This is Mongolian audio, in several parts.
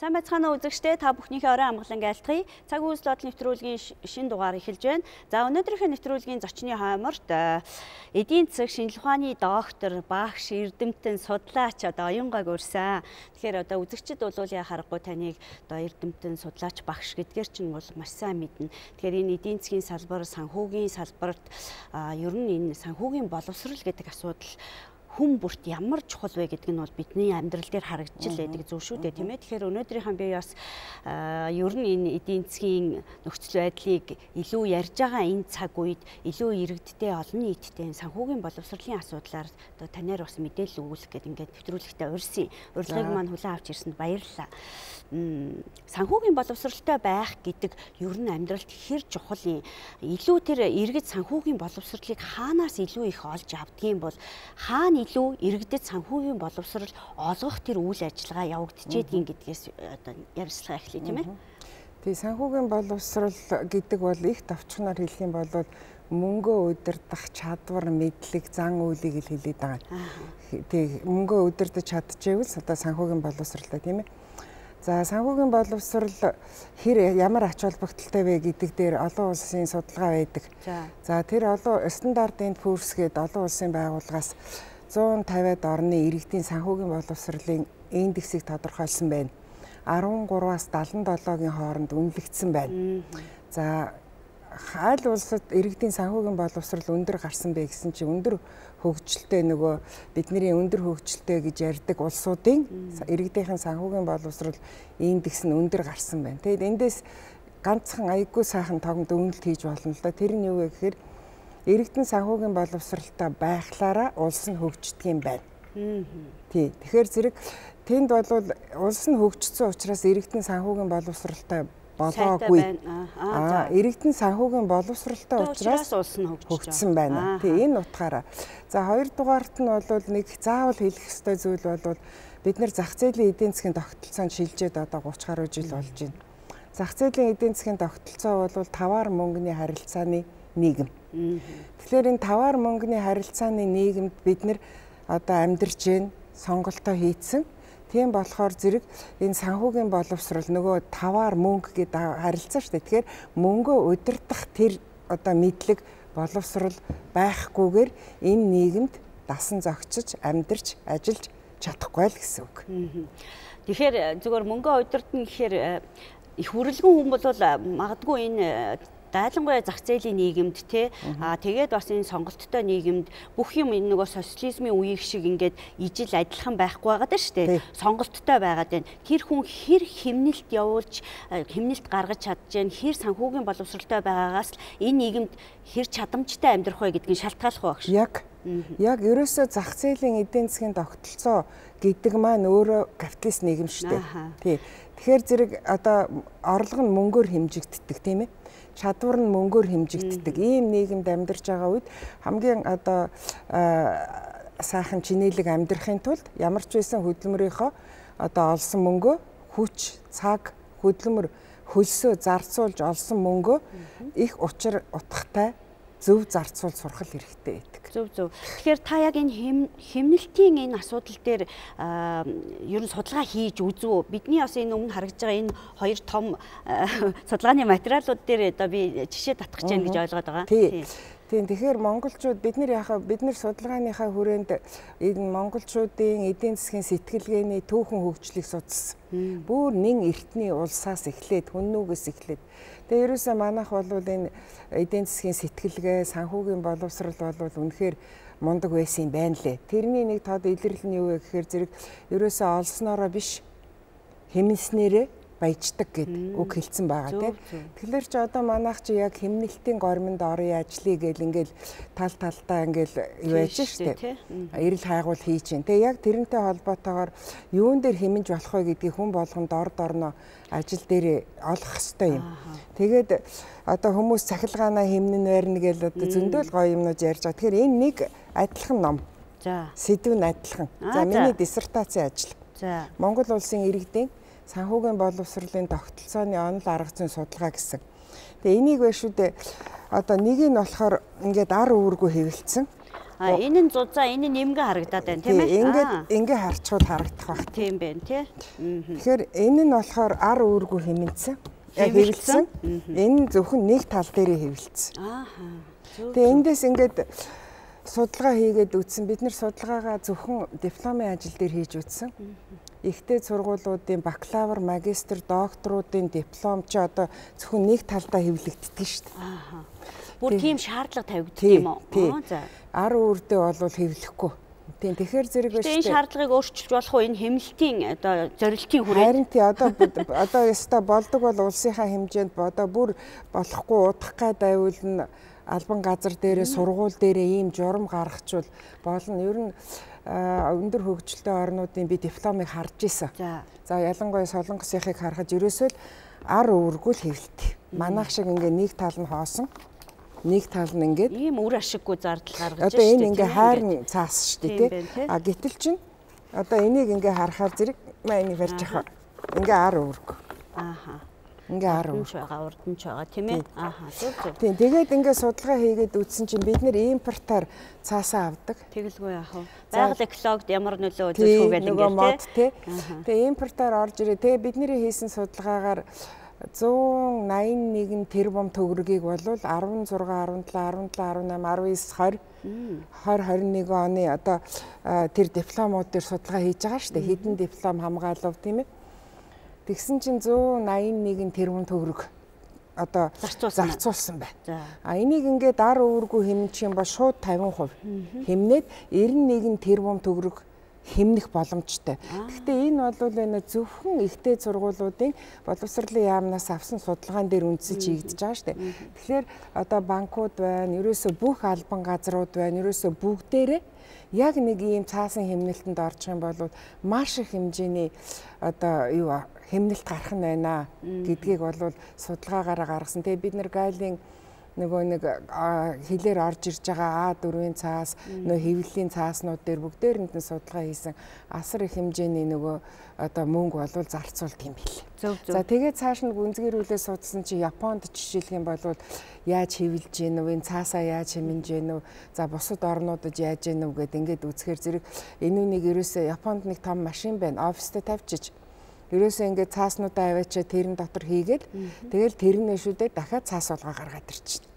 Сайн байцгаана уу үзэгчдээ, та бүхнийхээ орой амгалан айлтгая. Цаг үйл доод нэвтрүүлгийн шинэ дугаар эхэлж байна. За өнөөдрийнхээ нэвтрүүлгийн зочны хойморт эдийн засаг шинжилгээ ухааны доктор, багш, эрдэмтэн, судлаач оюунгаг урьсан. Тэгэхээр үзэгчид бол яа харахгүй таныг эрдэмтэн, судлаач, багш гэдгээр чинь бол маш сайн мэднэ. Тэгэхээр энэ эдийн засгийн салбар, санхүүгийн салбарт ер нь энэ санхүүгийн боловсрол гэдэг асуудал хүн бүрт ямар чухал вэ гэдэг нь бол бидний амьдрал дээр харагдаж байдаг зүйл шүү дээ, тийм ээ. Тэгэхээр өнөөдрийнхээ би бас ер нь энэ эдийн засгийн нөхцөл байдлыг илүү ярьж байгаа энэ цаг үед илүү иргэдтэй олон нийттэй санхүүгийн боловсролын асуудлаар танаар бас мэдээлэл өгүүлэх гэдэг ингээд нэвтрүүлэгтээ урьсан. Урилгыг маань хүлээн авч ирсэнд баярлалаа. Санхүүгийн боловсролтой байх гэдэг ер нь амьдралд хэр чухал юм. Илүү тэр иргэд санхүүгийн боловсролыг хаанаас илүү их олж авдгийн бол хаана илүү иргэдэд санхүүгийн боловсрол олгох тэр үйл ажиллагаа явагдчихэдгийн гэдгээс ярилцлага эхлэе, тийм ээ. Тэгээ санхүүгийн боловсрол гэдэг бол их товчхоноор хэлэх юм бол мөнгөө удирдах чадвар, мэдлэг, зан үйлийг л хэлээд байгаа. Тэгээ мөнгөө удирдах чадчихвэл одоо санхүүгийн боловсролтой, тийм ээ. За санхүүгийн боловсрол ямар ач холбогдолтой вэ гэдэг дээр олон улсын судалгаа байдаг. За тэр олон стандартын Poor's гээд олон улсын байгууллагаас 150-ад орны иргэдийн санхүүгийн боловсролын индексийг тодорхойлсон байна. 13-аас 77-гийн хооронд үнэлэгдсэн байна. За аль улсад иргэдийн санхүүгийн боловсрол өндөр гарсан бэ гэсэн чинь өндөр хөгжилтэй нөгөө бидний өндөр хөгжилтэй гэж ярьдаг улсуудын иргэдийн санхүүгийн боловсрол индекс нь өндөр гарсан байна. Тэгэд эндээс ганцхан аяггүй сайхан тогтмол үнэлт хийж болно л да. Тэр нь юу вэ гэхээр иргэдийн санхүүгийн боловсролтой байхлаараа улс нь хөгждөг юм байна. Тий. Тэгэхээр зэрэг тэнд бол улс нь хөгжсөн учраас иргэдийн санхүүгийн боловсролтой болоогүй. Иргэдийн санхүүгийн боловсролтой учраас улс нь хөгжсөн байна. Тий, энэ утгаараа. За хоёрдугаарт нь бол нэг заавал хэлэх ёстой зүйл бол бид нэр зах зээлийн эдийн засгийн тогтолцоонд шилжээд одоо 30 гаруй жил болж байна. Зах зээлийн эдийн засгийн тогтолцоо бол таваар мөнгөний харилцааны нийгэм. Тэгэхээр энэ таваар мөнгөний харилцааны нийгэмд бид нэр одоо амьдарч байна, сонголтоо хийцэн. Тийм болохоор зэрэг энэ санхүүгийн боловсрол нөгөө таваар мөнгө гэдэг харилцаа шүү дээ. Тэгэхээр мөнгөө удирдах тэр одоо мэдлэг боловсрол байхгүйгээр энэ нийгэмд дасан зохицож, амьдарч, ажиллаж чадахгүй л гэсэн үг. Тэгэхээр зүгээр мөнгөө удирдна гэхээр их хүрэлгэн хүн бол магадгүй энэ дайлангуяа зах зээлийн нийгэмд тэгээд бас энэ сонголттой нийгэмд бүх юм энэ нөгөө социализмын үеиг шиг ингээд ижил адилхан байхгүй байгаа даа шүү дээ. Сонголттой байгаад байна. Тэр хүн хэр хэмнэлт явуулж, хэмнэлт гаргаж чадж, хэр санхүүгийн боловсролтой байгаагаас л энэ нийгэмд хэр чадамжтай амьдрах вэ гэдгийг шалтгааллах байх шүү. Яг ерөөсөө зах зээлийн эдийн засгийн тогтолцоо гэдэг маань өөрөө капиталист нийгэм шүү дээ. Тий. Тэгэхээр зэрэг одоо орлого нь мөнгөөр хэмжигддэг, тийм ээ. Чадвар нь мөнгөөр хэмжигддэг. Ийм нийгэмд амьдарч байгаа үед хамгийн одоо сайхан чинээлэг амьдрахын тулд ямар ч байсан хөдөлмөрийнхөө одоо олсон мөнгөө хүч, цаг, хөдөлмөр хөлсөө зарцуулж олсон мөнгөө их учир утгатай зөв зарцуул сурах хэрэгтэй байдаг. Зөв. Тэгэхээр та яг энэ хэмнэлтийн энэ асуудал дээр ер нь судалгаа хийж үзв үү? Бидний бас энэ өмнө харагдж байгаа энэ хоёр том судалгааны материалууд дээр одоо би жишээ татгах гэж байна гэж ойлгоод байгаа. Тийм. Тэгэхээр монголчууд бид нар судалгааныхаа хүрээнд энэ монголчуудын эдийн засгийн сэтгэлгээний түүхэн хөгжлийг судалсан. Бүр нэн эртний улсаас эхлээд хүннүүгээс эхлээд. Тэгээ ерөөсөө манайх бол энэ эдийн засгийн сэтгэлгээ, санхүүгийн боловсрол бол үнэхээр мундаг байсан юм байна лээ. Тэрний нэг тод илэрлэл нь юу вэ гэхээр зэрэг ерөөсөө олсноороо биш хэмнэснээрээ баяждаг гэдэг үг хэлсэн байгаа тийм. Тэгэхээр ч одоо манайх чи яг хэмнэлтийн гормонд орё ажлыг гэл ингээл тал талдаа ингээл юу яаж штэ. Эрэл хайгуул хийж чинь. Тэгээ яг тэрнтэй холбоотойгоор юун дээр хэмнэж болох вэ гэдгийг хүн болгонд орноо ажил дээр олох ёстой юм. Тэгээд одоо хүмүүс цахилгаанаа хэмнэн байрна гэл одоо зөндөөл гоё юмнууд ярьж байгаа. Тэгэхээр энэ нэг адилхан ном. За. Сэдв нь адилхан. За миний диссертацийн ажил. За. Монгол улсын иргэдийн санхүүгийн боловсролын тогтолцооны онол арга зүйн судалгаа гэсэн. Тэгээ энийг байна шүү дээ. Одоо нэг нь болохоор ингээд ар үүргүү хэвлэлцэн. Энэ нь зузаан, энэ нь нэмгээ харагдаад байна тийм ээ. Ингээ харчвал харагдах баг. Тийм байна тий. Тэгэхээр энэ нь болохоор ар үүргүй хэмнэсэн. Хэвлэлсэн. Энэ зөвхөн нэг тал дээрээ хэвлэлсэн. Тэгээ эндээс ингээд судалгаа хийгээд үзсэн. Бид нэр судалгаагаа зөвхөн дипломын ажил дээр хийж үзсэн. Ихтэй сургуулиудын бакалавр, магистр, докторуудын диплом ч одоо зөвхөн нэг талдаа хэвлэгддэг шүү дээ. Бүр тийм шаардлага тавигддаг юм уу? За. Ар үрдээ бол хэвлэхгүй. Тийм тэгэхээр зэрэг байна шүү дээ. Энэ шаардлагыг өөрчилж болох уу? Энэ хэмнэлтийн одоо зорилтын хүрээ. Харин тий одоо яста болдог бол улсынхаа хэмжээнд одоо бүр болохгүй удах гай дайвуулна албан газар дээрээ сургууль дээрээ ийм журам гаргахчвал болно. Ер нь өндөр хөгжилтэй орнуудын би дипломыг харж исэн. За ялангуяа Солонгосынхыг харахад ерөөсөө л ар үүргүй л хэвлэлт. Манайх шиг ингээ нэг тал нь хоосон. Нэг тал нь ингээд ийм үр ашиггүй зардал гаргаж байна. Одоо энэ ингээ хайрн цаас шүү дээ тий. Гэтэл чинь одоо энийг ингээ харахаар зэрэг энийг барьж авах. Ингээ ар үүрэг. Ингээ ар үүрэг байгаа, урдч байгаа тийм ээ. Зөв. Тийм тэгээд ингээ судалгаа хийгээд үзсэн чинь бид нэр импортоор цаасаа авдаг. Тэгэлгүй яах вэ? Байгаль экологид ямар нөлөө үзүүлэх вэ гэдэг тий. Тэгээ импортоор орж ирээ. Тэгээ бидний хийсэн судалгаагаар 181 тэрбум төгрөгийг бол 16, 17, 17, 18, 19, 20, 20, 21 оны одоо тэр дипломууд дээр судалгаа хийж байгаа шүү дээ. Хэдэн диплом хамгаалав тийм ээ. Тэгсэн чинь 181 тэрбум төгрөг одоо зарцуулсан байна. Энийг ингээд ар үүргүй хэмнэх юм бол шууд 50% хэмнээд 91 тэрбум төгрөг хэмнэх боломжтой. Гэхдээ энэ бол зөвхөн ихтэй сургуулиудын боловсролын яамнаас авсан судалгаан дээр үндэслэж хийгдэж байгаа шүү дээ. Тэгэхээр одоо банкуд байна, ерөөсөө бүх албан газрууд байна, ерөөсөө бүгдээрээ яг нэг ийм цаасан хэмнэлтэнд орчих юм бол маш их хэмжээний одоо юу хэмнэлт гарах нь байна гэдгийг бол судалгаагаараа гаргасан. Тэгээ бид нэр гайлын нөгөө нэг хилээр орж ирж байгаа А4-ийн цаас, нөгөө хэвлэлийн цааснууд дээр бүгдээрэнд нь судалгаа хийсэн асар их хэмжээний нөгөө одоо мөнгө болвол зарцуулдаг юм билээ. За тэгээд цааш нь гүнзгийрүүлээ судалсан чи Японд жишээлх юм бол яаж хэвлэж гин үү, энэ цаасаа яаж хэмнэж гин үү, за бусад орнуудад яаж гин үү гэд ингээд үзэхээр зэрэг энүүнийг ерөөсөө Японд нэг том машин байна, оффистэ тавьчих. Ерөөсөө ингээд цааснуудаа аваачаа тэрэн дотор хийгээд тэгэл тэрнээ шүдээ дахиад цаас болгоо гаргаад ирчихнэ.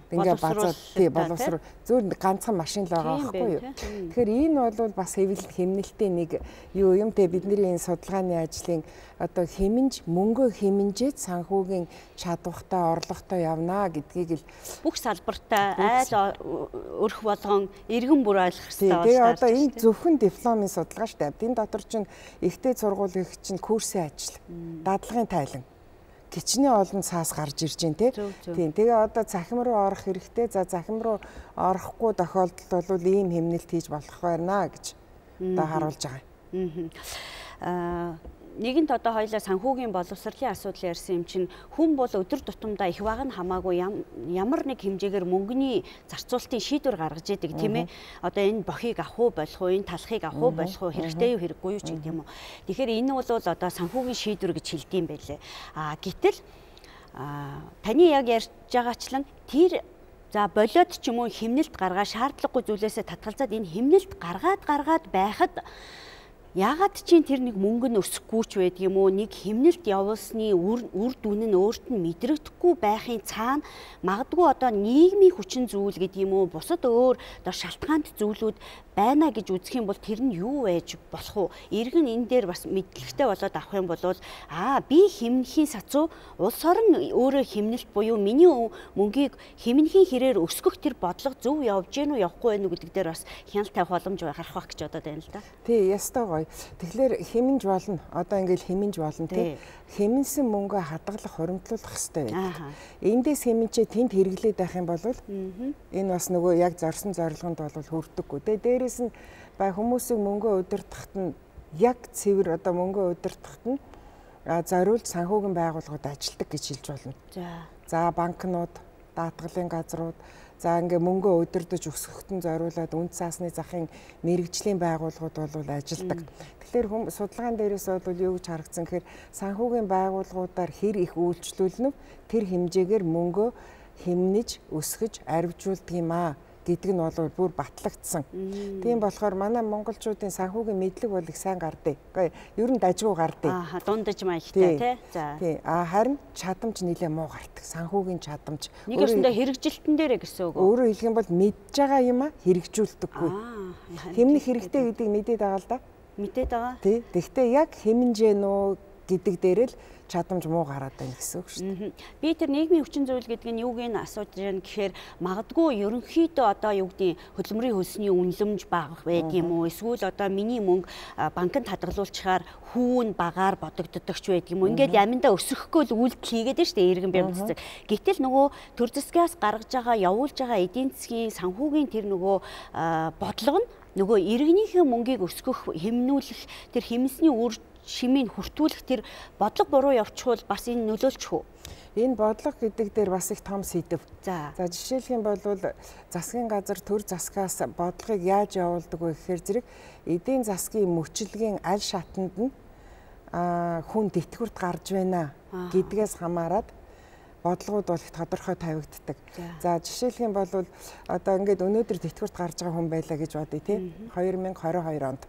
Ингээ базаад тий боловсрол зөв ганцхан машин л байгаа байхгүй юу. Тэгэхээр энэ бол бас хэмнэлтийн нэг юу юм те бидний энэ судалгааны ажлын одоо хэмнж мөнгө хэмнжээд санхүүгийн чадвартай орлоготой явна гэдгийг л бүх салбартаа айл өрх болгон иргэн бүр ойлгох хэрэгтэй байна. Тэгээ одоо энэ зөвхөн дипломын судалгаа шүү дээ. Энэ дотор чинь ихтэй сургууль их чинь курсын ажил, дадлагын тайлан кичнээ олон цаас гарч ирж байна тийм. Тэгээ одоо захим руу орох хэрэгтэй. За захим руу орохгүй тохиолдолд бол ийм хэмнэлт хийж болох байна гэж одоо харуулж байгаа. Нэгэнт одоо хоёлаа санхүүгийн боловсролын асуудал ярьсан юм чинь хүн бол өдөр тутамдаа их баг нь хамаагүй ямар нэг хэмжээгээр мөнгөний зарцуулалтын шийдвэр гаргаж идэг тийм ээ. Одоо энэ бохийг авах уу болох уу, энэ талхыг авах уу болох уу, хэрэгтэй юу хэрэггүй юу ч гэдэг юм уу. Тэгэхээр энэ бол одоо санхүүгийн шийдвэр гэж хэлдэм байлээ. Гэтэл таны яг ярьж байгаачлан тэр за болоод ч юм уу хэмнэлт гаргаа шаардлагагүй зүйлээсээ татгалзаад энэ хэмнэлт гаргаад байхад яагаад чинь тэр нэг мөнгө нь өсөхгүй ч байдаг юм уу, нэг хэмнэлт явуулсны үр дүн нь өөрт нь мэдрэгдэхгүй байхын цаана магадгүй одоо нийгмийн хүчин зүйл гэдэг юм уу, бусад өөр одоо шалтгаант зүйлүүд байна гэж үзэх юм бол тэр нь юу байж болох вэ? Иргэн энэ дээр бас мэдлэгтэй болоод авах юм бол би хэмнэхийн сацуу улс орон өөрөө хэмнэлт буюу миний мөнгийг хэмнэхийн хэрээр өсгөх тэр бодлого зөв явж гэнэ үү явахгүй байна уу гэдэг дээр бас хяналт тавих боломж гарах байх гэж бодоод байна л да. Тий, ястай гоё. Тэгэхээр хэмнэж болно. Одоо ингээл хэмнэж болно тий. Хэмнсэн мөнгөө хадгалах, хуримтлуулах хэрэгтэй байдаг. Эндээс хэмнчээ тэнд хэрэглээд байх юм бол энэ бас нөгөө яг зорсон зорилгонд бол хүрдэггүй. Дээрээс нь бай хүмүүсийг мөнгөө удирдахад нь яг цэвэр одоо мөнгөө удирдахад нь зориулж санхүүгийн байгууллагууд ажилтдаг гэж хэлж болно. За банкнууд, даатгалын газрууд, за ингээ мөнгөө удирдах өсгөхтөн зориулаад үнд цаасны захын мэрэгжлийн байгууллагууд бол ажилдаг. Тэгэхээр судалгаан дээрээс бол юу гэж харагдсан гэхээр санхүүгийн байгууллагуудаар хэр их үйлчлүүлнэ тэр хэмжээгээр мөнгөө хэмнэж өсгөж арвижуулдаг юм гэдэг нь бол бүр батлагдсан. Тийм болохоор манай монголчуудын санхүүгийн мэдлэг бол их сайн гардыг. Ер нь дажгүй гардыг. Дундаж маягтай тий. За. Тий. Харин чадамж нэлээ муу гардаг. Санхүүгийн чадамж. Нэг өсөндөө хэрэгжилтэн дээрээ гэсэн үг. Өөрөөр хэлэх юм бол мэдж байгаа юм хэрэгжүүлдэггүй. Хэмнэх хэрэгтэй гэдгийг мэдээд байгаа л да. Мэдээд байгаа. Тий. Тэгвэл яг хэмнжээ нөө гэдэг дээр л чадамж муу гараад байна гэсэн үг шүү дээ. Би тэр нийгмийн хүчин зүйл гэдэг нь юуг нь асууж байна гэхээр магадгүй ерөнхийдөө одоо юу гэдэг хөдөлмөрийн хөлсний үнэлэмж бага байд юм уу? Эсвэл одоо миний мөнгө банкнд хадгалуулчихаар хүүн багаар бодогддогч байд юм уу? Ингээд яминдаа өсөхгүй л үйлдэл хийгээд байна шүү дээ иргэн бямц цэцэг. Гэтэл нөгөө төр засгаас гаргаж байгаа явуулж байгаа эдийн засгийн санхүүгийн тэр нөгөө бодлого нь нөгөө иргэнийхээ мөнгийг өсгөх, хэмнүүлэх, тэр хэмнэсний үр шимийг хүртүүлэх тэр бодлого буруу явчихвал бас энэ нөлөөлчих үү? Энэ бодлого гэдэг дээр бас их том сэдэв. За жишээлх юм бол засгийн газар төр засгаас бодлогыг яаж явуулдаг вэ гэхээр зэрэг эдийн засгийн мөчлөгийн аль шатанд нь хүн тэтгэврт гарч байна гэдгээс хамаарат бодлогууд бол их тодорхой тавигддаг. За жишээлх юм бол одоо ингээд өнөөдөр тэтгэврт гарч байгаа хүн байлаа гэж бодъё тий. 2022 онд.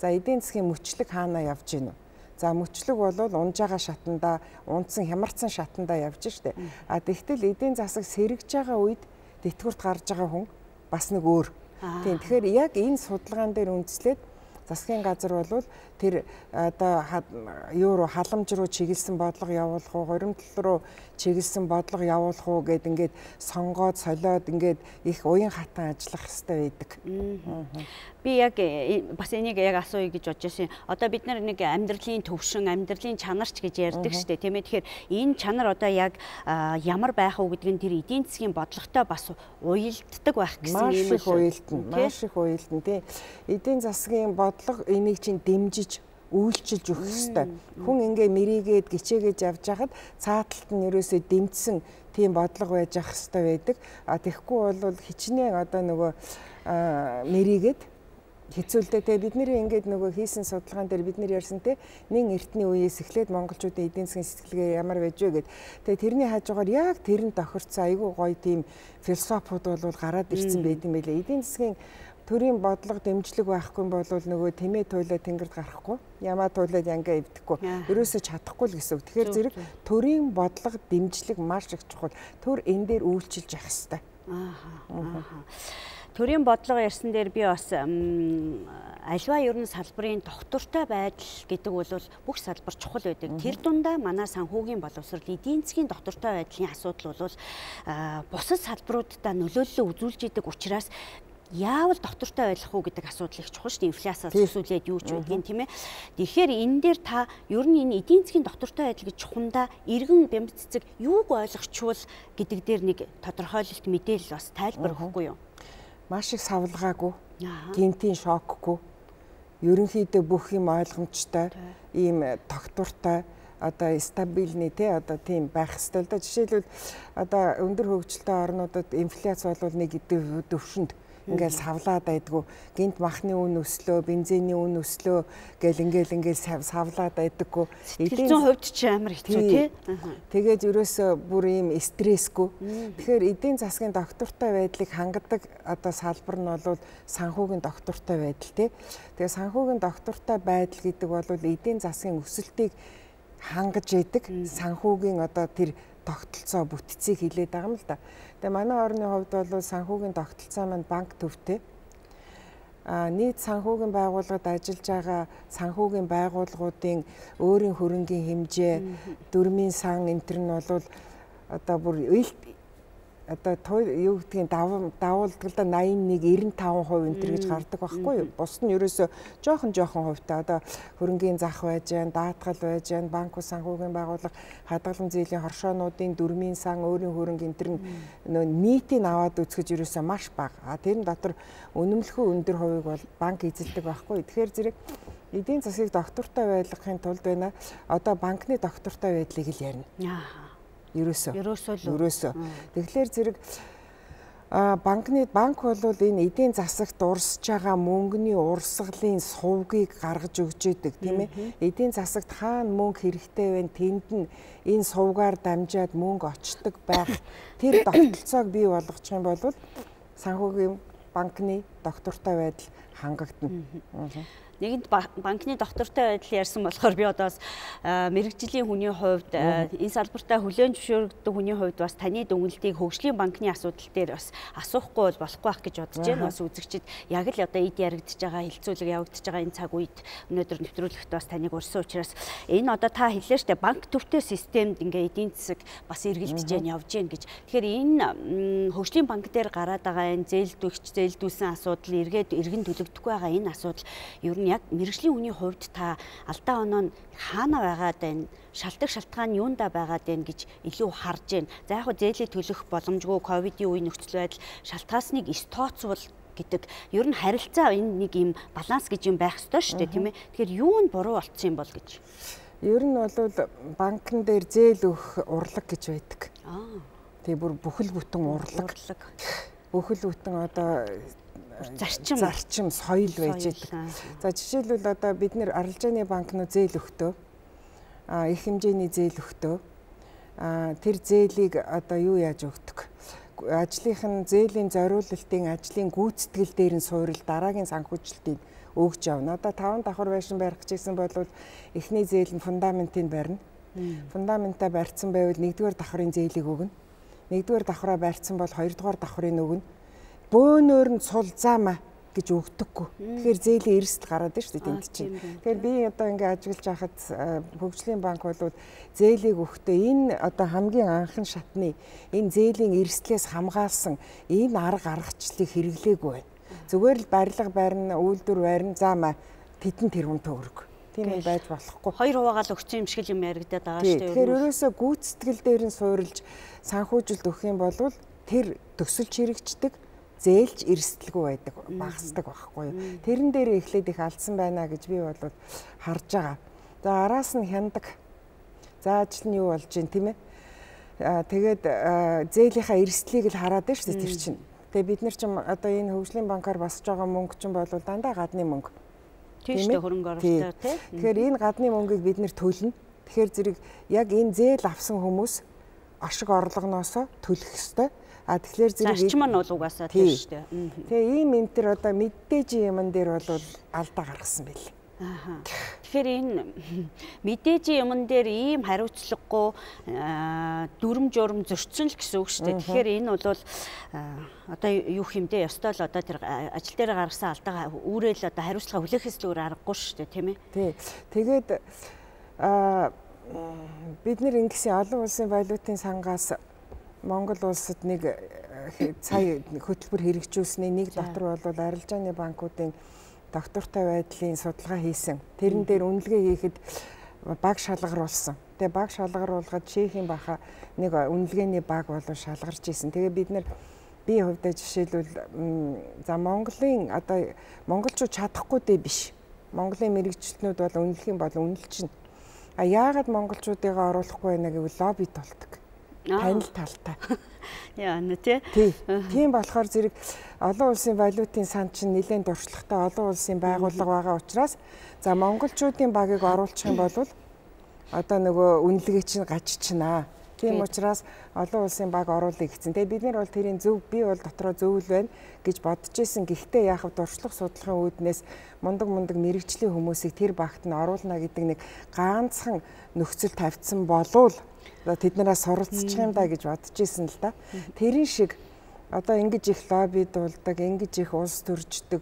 За эдийн засгийн мөчлөг хаанаа явж гинэ? За мөчлөг бол унж байгаа шатанда, унтсан хямарсан шатанда явж штэ. Тэгтэл эдийн засаг сэргэж байгаа үед тэтгэврт гарч байгаа хүн бас нэг өөр. Тийм. Тэгэхээр яг энэ судалгаан дээр үндэслээд засгийн газар бол тэр одоо юу руу халамж руу чиглэсэн бодлого явуулах уу, хуримтлал руу чиглэсэн бодлого явуулах уу гэд ингээд сонгоод солиод ингээд их уян хатан ажиллах хэрэгтэй байдаг. Би яг бас энийг яг асууя гэж бодож байсан. Одоо бид нар нэг амьдралын төвшин, амьдралын чанарч гэж ярьдаг шүү дээ. Тийм ээ. Тэгэхээр энэ чанар одоо яг ямар байх уу гэдэг нь тэр эдийн засгийн бодлоготой бас уялддаг байх гэсэн юм шиг. Маш их уялдана тий. Эдийн засгийн бодлого энийг чинь дэмжиж үйлчилж өгөх ёстой. Хүн ингээ мэрийгээд гिचээгээд явж хахад цааталт нь ерөөсөө дэмжсэн тийм бодлого байж ах ёстой байдаг. Тэгэхгүй бол хичнээн одоо нөгөө мэрийгээд хэцүүлдэ те бидний ингээд нөгөө хийсэн судалгаан дээр бид нар ярьсан те нэн эртний үеэс эхлээд монголчуудын эдийн засгийн сэтгэлгээ ямар байж вэ гэд. Тэгээ тэрний хажуугаар яг тэрэнд тохирцсон айгүй гоё тийм философиуд бол гараад ирсэн байт юм байлээ. Эдийн засгийн төрийн бодлого дэмжлэг байхгүй бол нөгөө тэмээ туйлаа тэнгэрд гарахгүй, ямаа туйлаад янгаа эвдэхгүй, ерөөсөө чадахгүй л гэсэн үг. Тэгэхээр зэрэг төрийн бодлого дэмжлэг маш их чухал. Төр энэ дээр үйлчилж явах хэрэгтэй. Төрийн бодлого ярьсан дээр би бас альва ерөн салбарын доктортой байдал гэдэг бол бүх салбар чухал байдаг. Тэр дундаа манай санхүүгийн боловсрол эдийн засгийн доктортой байдлын асуудал бол бусад салбаруудаа нөлөөллөө үзүүлж идэг учраас яавал доктортой байх уу гэдэг асуудал их чухал шүү дээ. Инфляциас төсөөлээд юу ч байдгийг тийм ээ. Тэгэхээр энэ дээр та ер нь энэ эдийн засгийн доктортой байдал гэж чухамдаа иргэн бямц цэцэг юуг ойлгочвол гэдэг дээр нэг тодорхойлолт мэдээлэл бас тайлбар өгөхгүй юу? Маш их савлгаагүй, гинтийн шокгүй, ерөнхийдөө бүх юм ойлгомжтой, ийм тогтвортой, одоо стабильны те одоо тийм байх ёстой л да. Жишээлбэл одоо өндөр хөгжилтэй орнуудад инфляц бол нэг төвшөнд ингээл савлаад байдгүй, гинт махны үн өслөө, бензиний үн өслөө гэл ингээл савлаад байдаггүй. Эдийн засгийн хувьд ч амар хэцүү тий. Тэгээд ерөөсөө бүр ийм стрессгүй. Тэгэхээр эдийн засгийн доктортой байдлыг хангадаг одоо салбар нь бол санхүүгийн доктортой байдал тий. Тэгээд санхүүгийн доктортой байдал гэдэг бол эдийн засгийн өсөлтийг хангаж яадаг санхүүгийн одоо тэр тогтолцоо бүтцийг хилээд байгаа юм л да. Тэгээ манай орны хувьд бол санхүүгийн тогтолцоо маань банк төвтэй. Нийт санхүүгийн байгууллагад ажиллаж байгаа санхүүгийн байгууллагуудын өөрийн хөрөнгийн хэмжээ, дөрмийн сан энэ төр нь бол одоо бүр одоо юу гэдгийг давуулдгалда 81 95% энэ төр гэж гардаг байхгүй юу? Бус нь ерөөсөө жоохон хувьтай одоо хөрөнгийн зах байж гэн, даатгал байж гэн, банк санхүүгийн байгууллага, хадгалан зээлийн хоршоонуудын дөрмийн сан, өөрийн хөрөнгө энэ төр нийтийг аваад үзэхэд ерөөсөө маш бага. Тэрэн дотор үнэмлэхүй өндөр хувийг бол банк эзэлдэг байхгүй юу? Тэгэхээр зэрэг эдийн засгийг доктортой байлгахын тулд байна. Одоо банкны доктортой байдлыг л ярина. Ерөөсөө. Тэгэхээр зэрэг банк бол энэ эдийн засагт урсж байгаа мөнгөний урсгалын сувгийг гаргаж өгч идэг тийм ээ. Эдийн засагт хаана мөнгө хэрэгтэй вэ? Тэнд нь энэ сувгаар дамжаад мөнгө очдог байх. Тэр тогтолцоог бий болгочих юм бол санхүүгийн банкны доктортой байдал хангагдана. Нэгэнт банкны доктортой байдал ярьсан болохоор би одоо мэрэгжлийн хүний хувьд энэ салбартаа хүлээн зөвшөөрөгдөг хүний хувьд бас таны дүгнэлтийг хөгжлийн банкны асуудал дээр бас асуухгүй болохгүй байх гэж бодож байна. Бас үзэгчид яг л одоо эд яригдж байгаа хилцүүлэг явагдаж байгаа энэ цаг үед өнөөдөр нэвтрүүлэгт бас таныг урьсан учраас энэ одоо та хэллээ штэ банк төвтэй системд ингээ эдийн засаг бас эргэлдэж जैन явж гин гэж. Тэгэхээр энэ хөгжлийн банк дээр гараад байгаа энэ зээлдүүлсэн асуудал иргэн төлөгдөхгүй байгаа энэ асуудал ер нь яг мэрэгжлийн хүний хувьд та алдаа оноо нь хаана байгаад байна, шалтгаан юунда байгаад байна гэж илүү харж байна. За яг хөө зээлээ төлөх боломжгүй ковидын үе нөхцөл байдал шалтгаасныг тооцвол гэдэг ер нь харилцаа энэ нэг юм баланс гэж юм байх ёстой шүү дээ, тийм ээ. Тэгэхээр юу нь буруу болцсон юм бол гэж. Ер нь бол банкн дээр зээл өгөх урлаг гэж байдаг. Тэгээ бүр бүхэл бүтэн урлаг. Бүхэл бүтэн одоо зарчим соёл байж байгаа. За жишээлбэл одоо бид нэр арилжааны банкнууд зээл өгтөө их хэмжээний зээл өгтөө тэр зээлийг одоо юу яаж өгдөг? Ажлынхын зээлийн зориулалтын ажлын гүйцэтгэл дээр нь суурил дараагийн санхүүжилтийг өгж явна. Одоо 5 давхар байшин барих гэсэн бол эхний зээл нь фундаментыг барина. Фундаментаа барьсан байвал 1-р давхрын зээлийг өгнө. 1-р давхраа барьсан бол 2-р давхрыг өгнө. Бөөнөр нь сул заамаа гэж өгдөггүй. Тэгэхээр зээлийн эрсдэл гараад байна шүү дээ тэнд чинь. Тэгэхээр би одоо ингээ ажиллаж байхад хөгжлийн банк бол зээлийг өгөхдөө энэ одоо хамгийн анхны шатны энэ зээлийн эрсдлээс хамгаалсан энэ арга аргачлалыг хэрэглээгүй байна. Зүгээр л барилга барина, үйлдвэр барина, заамаа тэдэн тэрбум төгрөг. Тийм юм байж болохгүй. 2 хуваагаал өгсөн юм шиг юм яригадаад байгаа шүү дээ. Тэгэхээр ерөөсөө гүйцэтгэл дээр нь суурилж санхүүжилт өгөх юм бол тэр төсөлч хэрэгждэг зээлж эрсдэлгүй байдаг багасдаг байхгүй юу. Тэрэн дээр эхлээд их алдсан байна гэж би бол харж байгаа. За араас нь хяндаг. За ажил нь юу болж байна тийм ээ. Тэгээд зээлийнхаа эрсдлийг л хараад байна шүү дээ тэр чинь. Тэгээ бид нар ч одоо энэ хөгжлийн банкар басж байгаа мөнгө чинь бол дандаа гадны мөнгө. Тийм шүү хөрөнгө оруулалттай тийм. Тэгэхээр энэ гадны мөнгийг бид нэр төлнө. Тэгэхээр зэрэг яг энэ зээл авсан хүмүүс ашиг орлогоноосоо төлөх ёстой. Тэгэхээр зэрэг зарчим нь бол угаасаа тийм шүү дээ. Тэгээ ийм юм тэр одоо мэдээж юмн дээр бол алдаа гаргасан байл. Тэгэхээр энэ мэдээж юмн дээр ийм хариуцлагагүй дүрм журм зөрчсөн л гэсэн үг шүү дээ. Тэгэхээр энэ бол одоо юу хэмдэ ёстой л одоо тэр ажил дээр гаргасан алдаа үүрэл одоо хариуцлага хүлээхээс л өөр аргагүй шүү дээ, тийм ээ. Тий. Тэгээд бид нэр ингэсэн олон улсын валютын сангаас Монгол улсад нэг сая хөтөлбөр хэрэгжүүлсний нэг дотор бол арилжааны банкуудын доктортой байдлын судалгаа хийсэн. Тэрэн дээр үнэлгээ хийхэд баг шалгаруулсан. Тэгээ баг шалгаруулгаад Чехийн баха нэг үнэлгээний баг болон шалгарч ийсэн. Тэгээ бид нэр би хувьдаа жишээлбэл за Монголын одоо монголчууд чадахгүй дээ биш. Монголын мэрэгчлэтнүүд бол үнэлэх юм бол үнэлчихнэ. А яагаад монголчуудыгаа оруулахгүй байна гэвэл лобби толдог. Танил талтай. Яа нэ тий. Тийм болохоор зэрэг олон улсын валютын сан чинь нэлээд дуршлагатай олон улсын байгууллага байгаа учраас за монголчуудын багийг оруулах юм бол одоо нөгөө үнэлгээ чинь гажчихнаа. Тийм учраас олон улсын баг оруулъя гэсэн. Тэгээ бид нар бол тэрийн зөв би бол дотроо зөв л байна гэж бодож исэн. Гэхдээ яах вэ дуршлах судлахын үүднээс мундаг мэрэгжлийн хүмүүсийг тэр багт нь оруулна гэдэг нэг ганцхан нөхцөл тавьсан болвол тэднээс суралцчих юм да гэж бодож исэн л да. Тэрийн шиг одоо ингэж их лобби дуулдаг, ингэж их улс төрждөг,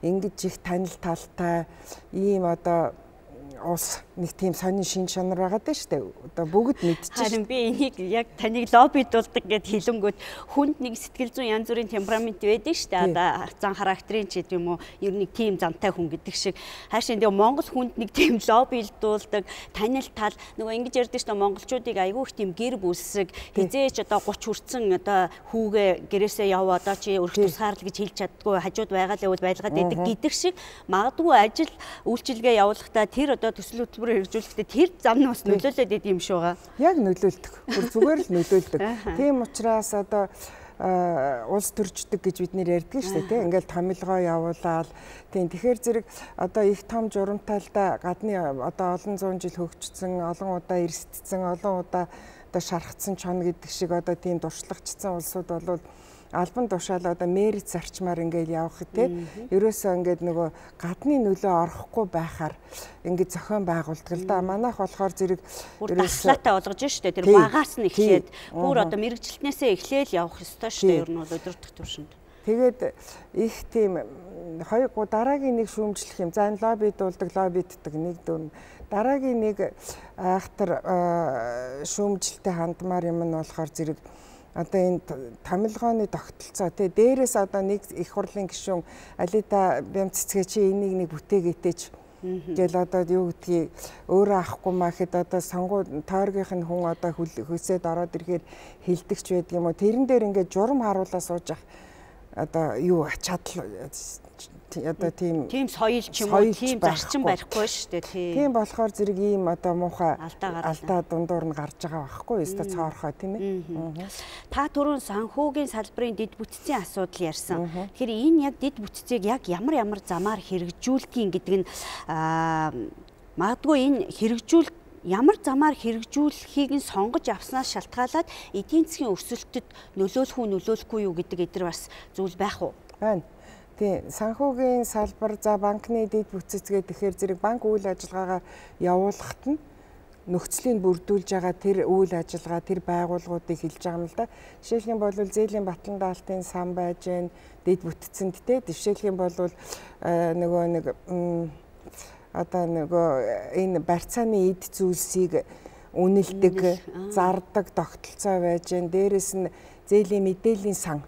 ингэж их танил талтай ийм одоо улс нэг тийм сонин шин чанар байгаад байна шүү дээ. Одоо бүгд мэдчихэж. Харин би энийг яг таныг лоббидуулдаг гэд хэлэнгүүт хүнд нэг сэтгэл зүйн янз бүрийн темперамент байдаг шүү дээ. Одоо зан характерын ч гэдэг юм уу, ер нь тийм зантай хүн гэдэг шиг. Хаашаа нэг Монгол хүнд нэг тийм лоббидуулдаг, танил тал нөгөө ингэж ярьдаг шүү дээ. Монголчуудыг айгүй их тийм гэр бүлсэг хизээч одоо 30 хүрсэн одоо хүүгээ гэрээсээ яв одоо чи өрх тусгаарлал гэж хэлж чаддгүй хажууд байгаа л явал байлгаад байдаг гэдэг шиг магадгүй ажил үйлчилгээ явуулахдаа тэр одоо төсөл хөтөлбөр хэрэгжүүлэхдээ тэр зам нь бас нөлөөлөд идэв юм шүү га. Яг нөлөөлдөг. Бүр зүгээр л нөлөөлдөг. Тийм учраас одоо улс төрждөг гэж бид нэр ярьдаг шүү дээ, тийм. Ингээл томилгоо явуулаад тийм. Тэгэхээр зэрэг одоо их том журамтайлда гадны одоо олон зуун жил хөгжсөн, олон удаа эрсдсэн, олон удаа одоо шархацсан чон гэдэг шиг одоо тийм дуршлагчсан улсууд бол албан тушаал одоо мерит зарчмаар ингээд явах тий. Ерөөсөө ингээд нөгөө гадны нөлөө орохгүй байхаар ингээд зохион байгуулдаг л да. Манайх болохоор зэрэг таслаатай болгож штэ тэр багаас нь эхлээд бүр одоо мэрэгжилтнээсээ эхлээл явах ёстой штэ ер нь бол өдөртөх төвшөнд. Тэгээд их тийм дараагийн нэг шүүмжлэх юм. За энэ лоббидуулдаг, лоббиддаг нэг дүн. Дараагийн нэг айхтар шүүмжлэлтэй хандмаар юм нь болохоор зэрэг одоо энэ томилгооны тогтолцоо тий дээрээс одоо нэг их хурлын гишүүн Алита бям цэцгээ чи энийг нэг бүтээгээтэйч гэл одоо юу гэдгийг өөрөө авахгүй маа гэхэд одоо сонгуул тойргийнх нь хүн одоо хөлсөөд ороод ирэхээр хилдэгч байдаг юм уу тэрэн дээр ингээд журам харуулаа сууж ах одоо юу чадал одоо тийм соёл ч юм уу тийм зарчим барихгүй шүү дээ тийм болохоор зэрэг ийм одоо муухай алдаа дундуур нь гарч байгаа байхгүй ёстой цоорхоо тийм ээ та түрүүн санхүүгийн салбарын дэд бүтцийн асуудал ярьсан. Тэгэхээр энэ яг дэд бүтцийг яг ямар замаар хэрэгжүүлдгийг гэдэг нь магадгүй энэ хэрэгжүүл ямар замаар хэрэгжүүлэхийг нь сонгож авснаас шалтгаалаад эдийн засгийн өрсөлдөд нөлөөлөхгүй юу гэдэг эдгээр бас зүйл байх уу? Байна. Тийм санхүүгийн салбар за банкны дэд бүтцэцгээ тэгэхээр зэрэг банк үйл ажиллагаагаа явуулахад нь нөхцөлийг бүрдүүлж байгаа тэр үйл ажиллагаа тэр байгууллагуудыг хэлж байгаа юм л да. Жишээлх юм бол зээлийн батлан даалтын сан байж гэн дэд бүтцэнд те жишээлх юм бол нөгөө нэг одоо нөгөө энэ барьцааны эд зүйлсийг үнэлдэг зардаг тогтолцоо байж гэн дээрэс нь зээлийн мэдээллийн сан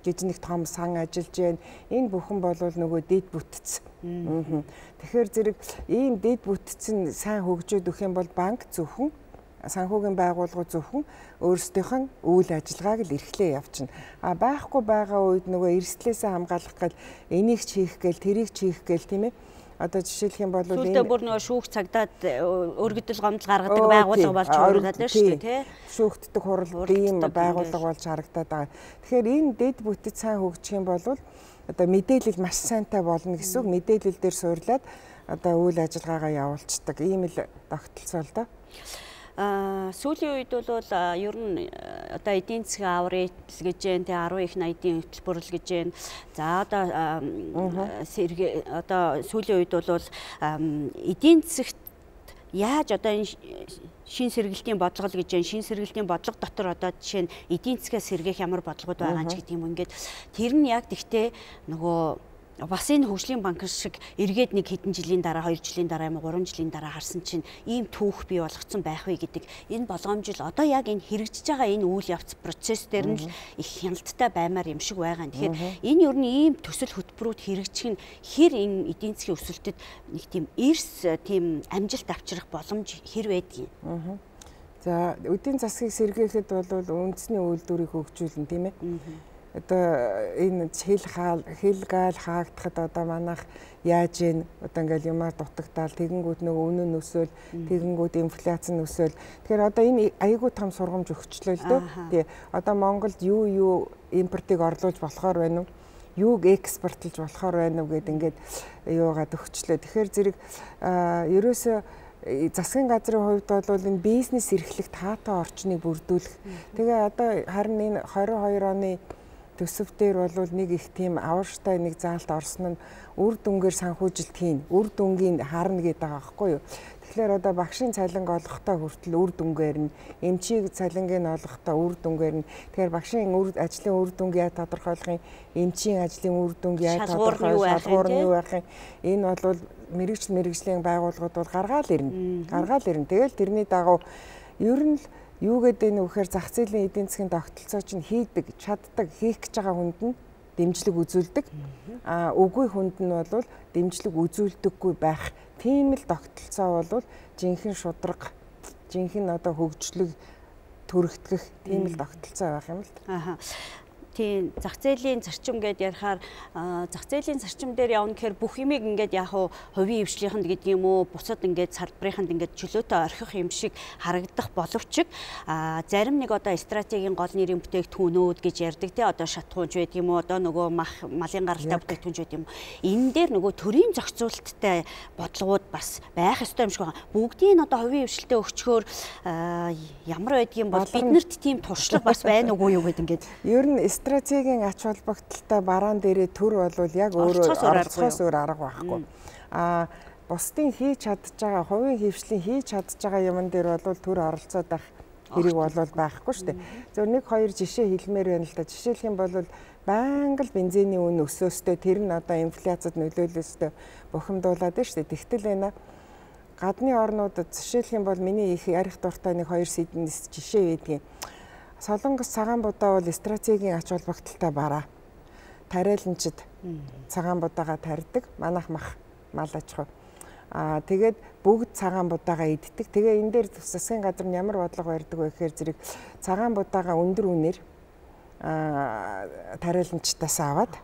гэж нэг том сан ажиллаж байна. Энэ бүхэн бол нөгөө дэд бүтц. Тэгэхээр зэрэг ийм дэд бүтц нь сайн хөгжөөд өгөх юм бол банк зөвхөн санхүүгийн байгууллагууд зөвхөн өөрсдийнх нь үйл ажиллагааг л эрхлээ явчихна. Байхгүй байгаа үед нөгөө эрсдлээсээ хамгаалах гал энийг ч хийх гээл тэрийг ч хийх гээл тийм ээ. Одоо жишээлх юм бол энэ бүр нөгөө шүүх цагдаад өргөдөл гомдол гаргадаг байгууллага болж харагдаад шүү дээ тий. Шүүхтдэг хурал ийм байгууллага болж харагдаад байгаа. Тэгэхээр энэ дэд бүтэц сайн хөгжих юм бол одоо мэдээлэл маш сайнтай болно гэсэн үг. Мэдээлэл дээр суурлаад одоо үйл ажиллагаагаа явуулцдаг. Ийм л тогтолцоо л доо. Сүүлийн үед бол ер нь одоо эдийн засгийн аврал гэж байна, тэ 10 их 80-ийн хөтөлбөрл гэж байна. За одоо сүүлийн үед бол эдийн засагт яаж одоо энэ шин сэргэлтийн бодлого гэж байна. Шин сэргэлтийн бодлого дотор одоо жишээ нь эдийн засгаас сэргээх ямар бодлогод байгаа ч гэдэг юм. Ингээд тэр нь яг тэгтээ нөгөө бас энэ хөгжлийн банк шиг эргээд нэг хэдэн жилийн дараа 2 жилийн дараа юм уу 3 жилийн дараа харсан чинь ийм түүх бий болгоцсон байх вэ гэдэг энэ болгоомжил одоо яг энэ хэрэгжиж байгаа энэ үйл явц процесс дээр нь л их хяналттай баймаар юм шиг байгаа. Тэгэхээр энэ ер нь ийм төсөл хөтөлбөрүүд хэрэгжих нь хэр энэ эдийн засгийн өсөлтөд нэг тийм эрс тийм амжилт авчрах боломж хэр байдгийг. За эдийн засгийг сэргээхэд бол үндэсний үйлдвэрийг хөгжүүлнэ тийм ээ. Одоо энэ хэл гаал хаагдахад одоо манайх яаж ийн одоо ингээл юмар дутагдаал тэгэнгүүт нөгөө үнэн өсөөл тэгэнгүүт инфляц нь өсөөл тэгэхээр одоо энэ аягүй том сургамж өгчлөө л дөө тий одоо Монголд юу импортыг орлуулж болохоор байна уу юуг экспортлж болохоор байна уу гэд ингээд юугаад өгчлөө тэгэхээр зэрэг ерөөсөө засгийн газрын хувьд бол энэ бизнес эрхлэх таатай орчныг бүрдүүлэх тэгээ одоо харин энэ 22 оны төсөв дээр бол нэг их тийм аварштай нэг заалт орсон нь үр дүнгээр санхүүжилт хийн үр дүнгийн харна гэдэг байгаа байхгүй юу. Тэгэхээр одоо багшийн цалинг олохдоо хүртэл үр дүнгээр нь эмчийг цалингийн олохдоо үр дүнгээр нь тэгэхээр багшийн ажлын үр дүнг яаж тодорхойлох юм эмчийн ажлын үр дүнг яаж тодорхойлох шалгуур нь юу байх юм энэ бол мэрэгжлийн байгууллагууд бол гаргаал ирнэ. Тэгэл тэрний дагуу ер нь юу гэдэг нь вэхээр зах зээлийн эдийн засгийн тогтолцоо чинь хийдэг, чаддаг, хийх гэж байгаа хүнд нь дэмжлэг үзүүлдэг. Үгүй хүнд нь бол дэмжлэг үзүүлдэггүй байх. Тийм л тогтолцоо бол жинхэнэ шудраг, жинхэнэ одоо хөгжлөг төрөгдөх тийм л тогтолцоо байх юм л. Тийм зах зээлийн зарчим гэдээ ярихаар зах зээлийн зарчим дээр явна гэхээр бүх юмыг ингээд яг хувийн хвшлийнхэнд гэдэг юм уу бусад ингээд салбарынханд ингээд чөлөөтэй орхих юм шиг харагдах боловч зарим нэг одоо стратегийн гол нэрийн бүтээгдэхүүнүүд гэж ярьдаг тий одоо шатхуунч байд юм уу одоо нөгөө малын гаралтай бүтээгдэхүүнч байд юм уу энэ дээр нөгөө төрийн зохицуулттай бодлогууд бас байх ёстой юм шиг байна. Бүгдийг нь одоо хувийн хвшлтэд өгчхөөр ямар байдгийм бол биднэрт тийм туршлага бас байна уугүй юу гэдэг ингээд ер нь стратегийн ач холбогдолтой бараан дээрээ төр бол яг өөрөө оролцохоос өөр арга байхгүй. Бусдын хийж чадж байгаа хувийн хвшлийн хийж чадж байгаа юмн дээр бол төр оролцоод байх хэрэг бол байхгүй шүү дээ. Зөв нэг хоёр жишээ хэлмээр байна л да. Жишээлх юм бол байнга л бензиний үн өсөөстэй тэр нь одоо инфляцид нөлөөлөөстэй бухимдуулаад байна шүү дээ. Тэгтэл байна. Гадны орнуудад жишээлх юм бол миний их ярих дуртай нэг хоёр жишээ байдгийн. Солонгос цагаан будаа бол стратегийн ач холбогдолтой бараа. Тариаланчид цагаан будаага тарьдаг. Манайх мал аж ахуй. Тэгээд бүгд цагаан будаага иддэг. Тэгээ энэ дээр засгийн газар нь ямар бодлого барьдаг вэ гэхээр зэрэг цагаан будаага өндөр үнээр тариаланчдаас аваад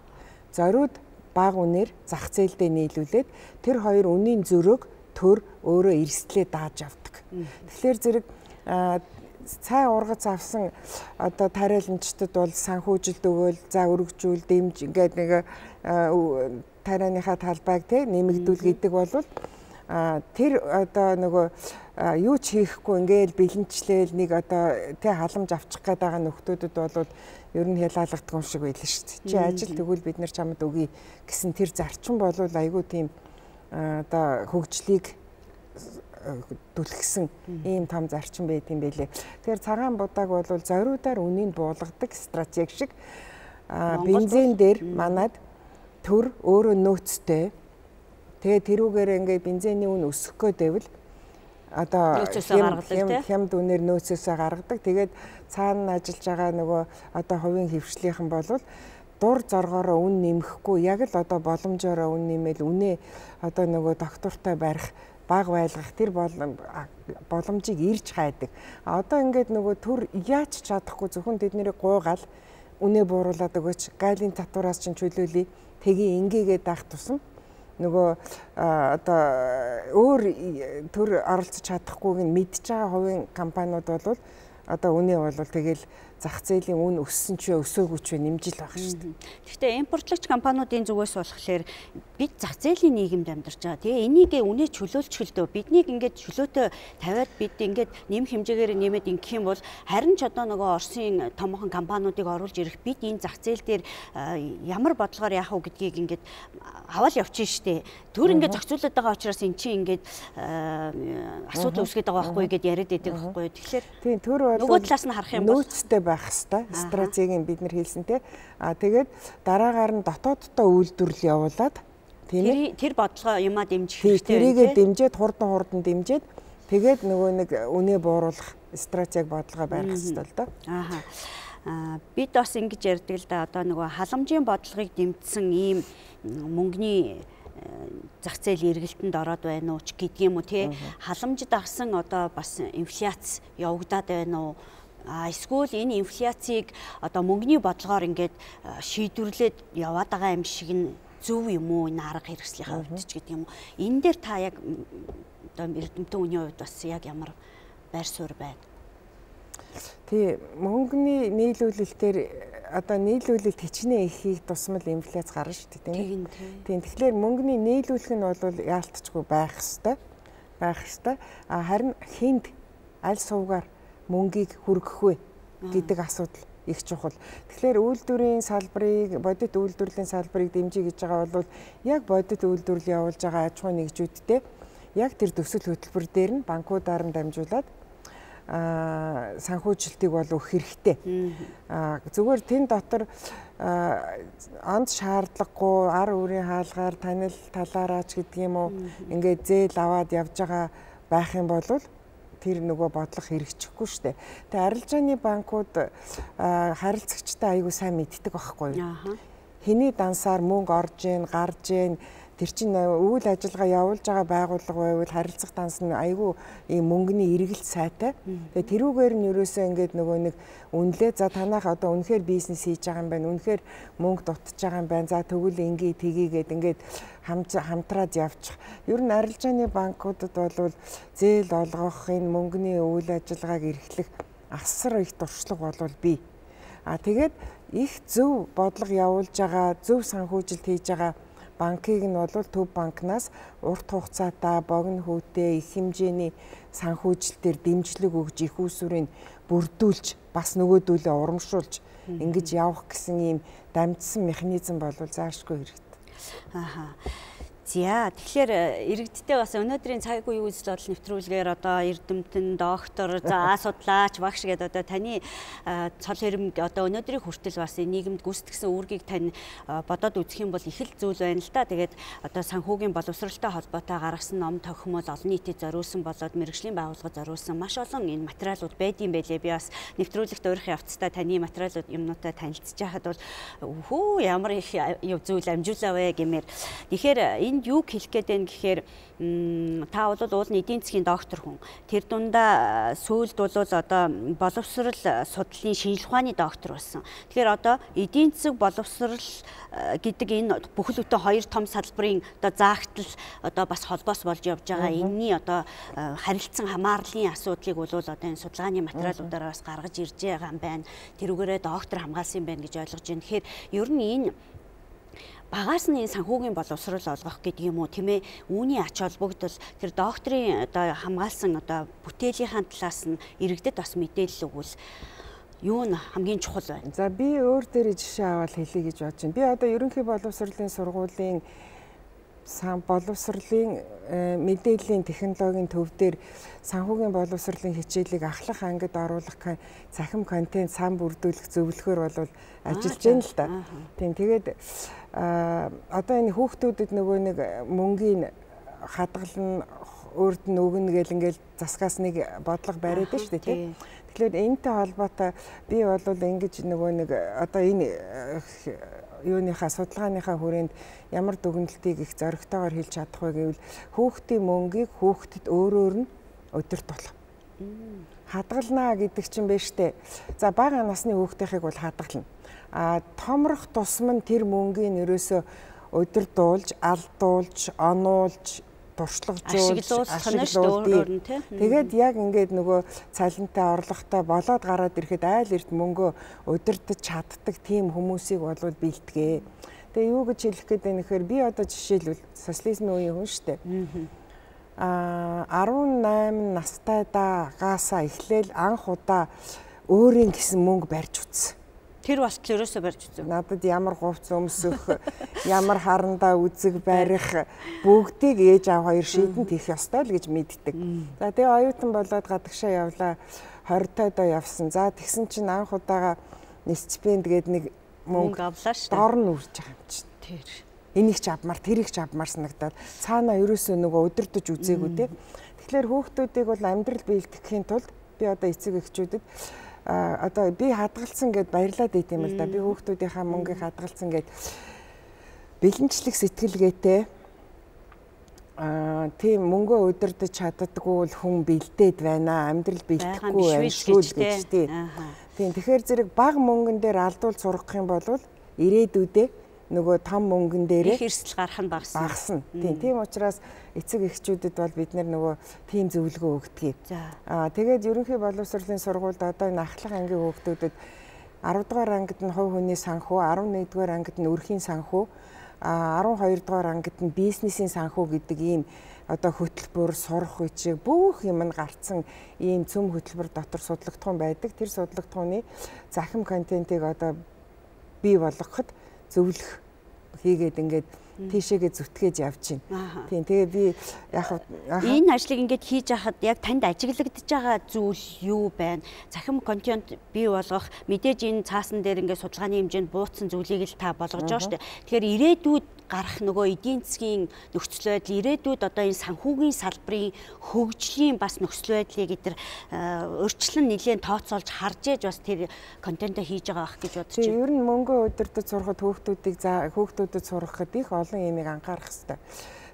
зориуд бага үнээр зах зээлдээ нийлүүлээд тэр хоёр үнийн зөрөөг төр өөрөө эрсдлээ дааж авдаг. Тэгэхээр зэрэг цай ургац авсан одоо тариаланчдад бол санхүүжилт өгөөл за өргөжүүл дэмж ингээд нэг тарианыхаа талбайг те нэмэгдүүл гэдэг бол тэр одоо нөгөө юу ч хийхгүй ингээд бэлэнчлээл нэг одоо те халамж авчих гээд байгаа нөхдүүдэд бол ер нь хялаалагддаг юм шиг байлаа шүү дээ. Чи ажил тэгвэл бид нар чамд өгье гэсэн тэр зарчим бол айгүй тийм одоо хөгжлийг түлхсэн ийм том зарчим байт юм байлээ. Тэгэхээр цагаан будааг бол зориудаар үнийг буулгадаг стратеги шиг бензин дээр манад төр өөрөө нөөцтэй. Тэгээ тэрүүгээр ингээд бензиний үн өсөх гэвэл одоо хямд үнээр нөөцөөсөө гаргадаг. Тэгээд цаана ажиллаж байгаа нөгөө одоо хувийн хвшлийнхэн болвол дур зоргоороо үн нэмэхгүй яг л одоо боломжоор үн нэмэл үнэ одоо нөгөө доктортой барих баг байлгах тэр боломжийг ирж хайдаг. Одоо ингээд нөгөө төр яаж чадахгүй зөвхөн тэднийг гуйгаал үнэ бууруулад өгөөч гайлын татвараас чинь чөлөөлье тгий ингээгээд даах тусам нөгөө одоо өөр төр оролцож чадахгүйг нь мэдж байгаа хувийн компаниуд бол одоо үнэ бол тэгэл зах зээлийн үн өссөн ч өсөөгүй ч нэмжил байх шүү дээ. Гэхдээ импортлагч компаниудын зүгээс болохоор бид зах зээлийн нийгэмд амьдарч байгаа. Тэгээ энийг үнэ чөлөөлчихөлдөө биднийг ингээд чөлөөтэй тавиад бид ингээд нэм хэмжээгээр нэмээд ингэх юм бол харин ч одоо нөгөө Оросын томоохон компаниудыг оруулж ирэх бид энэ зах зээл дээр ямар бодлогоор яах вэ гэдгийг ингээд аваад явчихна шүү дээ. Төр ингээд зохицуулаад байгаа учраас эн чинь ингээд асуудал үүсгээд байгаа байхгүй гэдээ яриад байдаг байхгүй. Тэгэхээр тийм төр бол нөгөө талаас нь харах юм бол нөөцтэй байх хэвээр стратегийн бид нар хэлсэн те. Тэгээд дараагаар нь дотооддоо үйлдвэрлэл явуулаад тийм тэр бодлого юмаа дэмжих хэрэгтэй. Тэрийгээ дэмжиж хурдан дэмжиж тэгээд нөгөө нэг үнэ бууруулах стратеги бодлого барих хэрэгтэй л доо. Бид бас ингэж ярьдаг л да одоо нөгөө халамжийн бодлогыг дэмжсэн ийм мөнгөний зах зээл эргэлтэнд ороод байна уу ч гэдэг юм уу тий. Халамжид авсан одоо бас инфляц явагдаад байна уу? Эсвэл энэ инфляцийг одоо мөнгөний бодлогоор ингээд шийдвэрлээд яваад байгаа юм шиг нь зөв юм уу энэ арга хэрэгслийнхаа хувьд ч гэдэг юм уу. Энэ дээр та яг одоо эрдэмтэн үеийн хувьд бас яг ямар байр суурь байна? Тий, мөнгөний нийлүүлэлтээр одоо нийлүүлэлт хичнээн ихийг тусмал инфляц гарна шүү дээ тийм үү? Тийм. Тэгэхээр мөнгөний нийлүүлэх нь бол яалтчгүй байх ёстой. Харин хүнд аль сувгаар мөнгийг хүргэх вэ гэдэг асуудал их чухал. Тэгэхээр үйлдвэрийн салбарыг, бодит үйлдвэрлэлийн салбарыг дэмжиж гэж байгаа бол яг бодит үйлдвэрлэл явуулж байгаа аж ахуй нэгжүүдтэй яг тэр төсөл хөтөлбөр дээр нь банкудаар нь дамжуулаад санхүүжилтийг бол өгөх хэрэгтэй. Зүгээр тэн дотор онц шаардлагагүй ар үрийн хаалгаар танил талаараач гэдэг юм уу ингээд зээл аваад явж байгаа байх юм бол тэр нөгөө бодлого хэрэгжихгүй шүү дээ. Тэгээ арилжааны банкуд харилцагчтай аягүй сайн мэддэг байхгүй юу? Хэний дансаар мөнгө орж ийн, гарж ийн, Тэр чинь үйл ажиллагаа явуулж байгаа байгууллага байвал харилцах данс нь айгүй ийм мөнгөний эргэлт сайтай. Тэгээ тэрүүгээр нь ерөөсөө ингээд нөгөө нэг үнэлээ за танах одоо үнэхээр бизнес хийж байгаа юм байна. Үнэхээр мөнгө дутж байгаа юм байна. За тэгвэл ингээ тгийгээд ингээд хамтраад явчих. Ер нь арилжааны банкудад бол зээл олгох энэ мөнгөний үйл ажиллагааг эрхлэх асар их туршлага болвол бий. Тэгээд их зөв бодлого явуулж байгаа, зөв санхүүжилт хийж байгаа банкыг нь бол Төв банкнаас урт хугацаатай богино хүүтэй их хэмжээний санхүүжилтээр дэмжлэг өгж их усүрийг бүрдүүлж бас нөгөөдүүлээ урамшуулж ингэж явах гэсэн ийм дамжсан механизм бол заашгүй хэрэгтэй. За тэгэхээр иргэдтэй бас өнөөдрийн цаг үеийн үзэл бодол нэвтрүүлгээр одоо эрдэмтэн, доктор, за судлаач, багш гэдэг одоо таны цол хэрэмг одоо өнөөдрийн хүртэл бас нийгэмд гүйцэтгэсэн үүргийг тань бодоод үзэх юм бол их л зүйл байна л да. Тэгээд одоо санхүүгийн боловсролтой холбоотой гаргасан ном тохиомол олон нийтэд зориулсан болоод мэргэжлийн байгууллагад зориулсан маш олон энэ материалууд байдсан байлээ. Би бас нэвтрүүлэгт өөрийнхөө явцдаа таны материалууд юмнуудаа танилцж байхад бол хөө ямар их зүйл амжуулаа вэ гэмээр. Тэгэхээр юуг хэлэх гээд байна гэхээр та бол уулын эдийн засгийн доктор хүн. Тэр дундаа сүүлд бол одоо боловсрал судлалын шинжилгээ ухааны доктор болсон. Тэгэхээр одоо эдийн засаг боловсрал гэдэг энэ бүхэл бүтэн хоёр том салбарын одоо заагтал одоо бас холбоос болж явж байгаа. Энэний одоо харилцан хамаарлын асуудлыг бол одоо энэ судалгааны материалуудаараа бас гаргаж ирж байгаа юм байна. Тэрүүгээрээ доктор хамгаалсан юм байна гэж ойлгож байна. Тэгэхээр ер нь энэ багаас нь энэ санхүүгийн боловсрол олгох гэдэг юм уу тийм ээ үүний ач холбогдол тэр докторийн одоо хамгаалсан одоо бүтээлийнхаа талаас нь иргэдэд бас мэдээлэл өгвөл юу нь хамгийн чухал байна. За би өөр дээр жишээ аваад хэлье гэж бодож байна. Би одоо ерөнхий боловсролын сургуулийн боловсролын мэдээллийн технологийн төв дээр санхүүгийн боловсролын хичээлийг ахлах ангид оруулах цахим контент сан бүрдүүлэх зөвлөхөр бол ажиллаж байна л да. Тийм тэгээд одоо энэ хүүхдүүдэд нөгөө нэг мөнгөний хадгална өөрд нь өгнө гэл ингээл засгаас нэг бодлого бариад байна шүү дээ тийм. Тэгэхээр энэтэй холбоотой би бол ингэж нөгөө нэг одоо энэ юуныхаа судалгааныхаа хүрээнд ямар дүгнэлтийг их зоригтойгоор хэлж чадах вэ гэвэл хүүхдийн мөнгийг хүүхдэд өөрөөр нь өдөрт болох. Хадгалнаа гэдэг чинь биш үү? За бага насны хүүхдийнхийг бол хадгална. Томрох тусам нь тэр мөнгийг ерөөсөө өдөрдуулж, алдуулж, онуулж, туршлагажуулж, ашиглуулж тэгээд яг ингээд нөгөө цалинтай орлоготой болоод гараад ирэхэд айл эрт мөнгөө удирдах чаддаг тийм хүмүүсийг бол бэлтгээ. Тэгээ юу гэж хэлэх гээд байна гэхээр би одоо жишээлбэл социализмын үеийн хүн шүү дээ. 18 настайдаагаас эхлээл анх удаа өөрийн гэсэн мөнгө барьж утсан. Тэр бас ерөөсөө барьж үзв. Надад ямар говц өмсөх, ямар харандаа үзэг барих бүгдийг ээж аав хоёр шийдэнд хийх ёстой л гэж мэддэг. За тэгээ оюутан болоод гадагшаа явлаа. 20-тойдоо явсан. За тэгсэн чинь анх удаага стипенд гээд нэг мөнгө авлаа шүү. Дор нь үрж байгаа юм чинь. Тэр. Энийг ч авмаар, тэрийг ч авмаар санагдаад цаанаа ерөөсөө нөгөө удирдах үзээгүй те. Тэгэхээр хүүхдүүдийг бол амьдрал биелтгэхийн тулд би одоо эцэг эхчүүдэд одоо би хадгалсан гэд баярлаад байт юм л да. Би хүүхдүүдийнхаа мөнгийг хадгалсан гэд бэлэнчлэх сэтгэлгээтэй тийм мөнгөө удирдах чаддаггүй хүн бэлдээд байна. Амьдрал бэлдэхгүй байна шүү гэж тийм. Тэгэхээр зэрэг бага мөнгөн дээр алдуул сургах юм бол ирээдүйдээ нөгөө том мөнгөн дээр их эрсдэл гарах нь багасна. Тийм учраас эцэг эхчүүдэд бол бид нөгөө тийм зөвлөгөө өгдөг. Тэгээд ерөнхий боловсролын сургуульд одоо энэ ахлах ангийн хүүхдүүдэд 10 дугаар ангид нь хувь хүний санхүү, 11 дугаар ангид нь өрхийн санхүү, 12 дугаар ангид нь бизнесийн санхүү гэдэг ийм одоо хөтөлбөр, сурах үчиг бүх юм нь гарцсан ийм цөм хөтөлбөр дотор судлагдсан байдаг. Тэр судлагдсаны захим контентыг одоо бий болгоход зөвлөх хийгээд ингээд тийшээгээ зүтгээж явж байна. Тийм тэгээ би яг энэ ажлыг ингээд хийж байхад яг танд ажиглагдж байгаа зүйл юу байна? Захим контент бий болгох мэдээж энэ цаасан дээр ингээд судалгааны хэмжээнд буутсан зүйлийг л та болгож байгаа шүү дээ. Тэгэхээр ирээдүйд гарах нөгөө эдийн засгийн нөхцөл байдал ирээдүйд одоо энэ санхүүгийн салбарын хөгжлийн бас нөхцөл байдлыг эдгээр өөрчлөн нэлээд тооцоолж харж ээж бас тэр контентоо хийж байгаа байх гэж бодож байна. Ер нь мөнгө удирдах сурахад хүүхдүүдэд сургахад их олон юмыг анхаарах хэрэгтэй.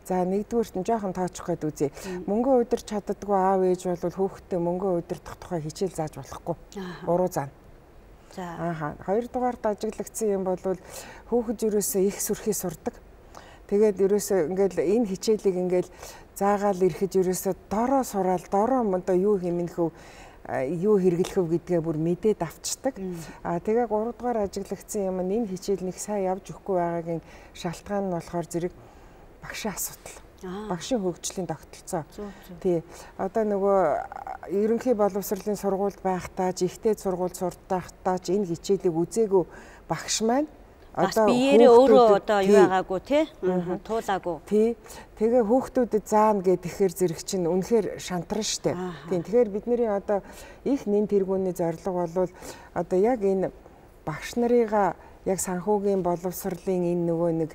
За нэгдүгüүрт нь жоохон тоочих гээд үзье. Мөнгө удирч чаддаггүй аав ээж бол хүүхдээ мөнгө удирдах тухай хичээл зааж болохгүй. Буруу заана. За. Хоёрдугаарт ажиглагдсан юм бол хүүхэд ерөөсөө их сүрхий сурдаг. Тэгээд ерөөсөө ингээл энэ хичээлийг ингээл заагаал ирэхэд ерөөсөө дороо сураал, дороо одоо юу хэмнэхүү, юу хэрэглэхөв гэдгээ бүр мэдээд авчдаг. Тэгээ 3 дугаар ажиглагдсан юм энэ хичээл нэг сайн явж өгөхгүй байгаагийн шалтгаан нь болохоор зэрэг багшийн асуудал. Багшийн хөгжлийн тогтолцоо. Тий. Одоо нөгөө ерөнхий боловсролын сургуульд байхдаа, ихтэй сургуульд сурдахдаа ч энэ хичээлийг үзээгүй багш маань одоо биеэрээ өөрөө одоо юу байгаагүй тий? Туулаагүй. Тий. Тэгээ хүүхдүүдэд заана гэхээр зэрэг чинь үнэхээр шантарна штэ. Тийм. Тэгэхээр бидний одоо их нэн тэргүүний зорилго бол одоо яг энэ багш нарыгаа яг санхүүгийн боловсролын энэ нөгөө нэг